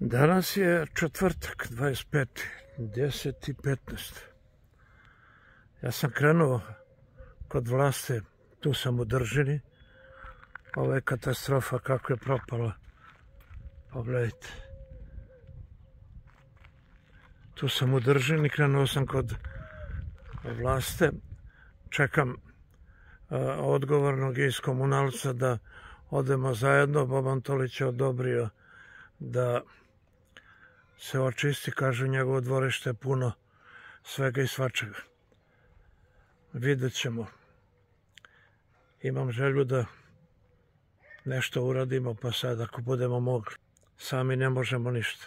Danas je četvrtak, 25.10.15. Ja sam krenuo kod Vlaste, tu sam u Držini. Ovo je katastrofa kako je propala. Pogledajte. Tu sam u Držini, krenuo sam kod Vlaste. Čekam odgovornog iz komunalca da odemo zajedno. Boban Tolić je odobrio da se očisti, kažu njegovo dvorište je puno svega i svačega. Vidjet ćemo. Imam želju da nešto uradimo, pa sad ako budemo mogli. Sami ne možemo ništa.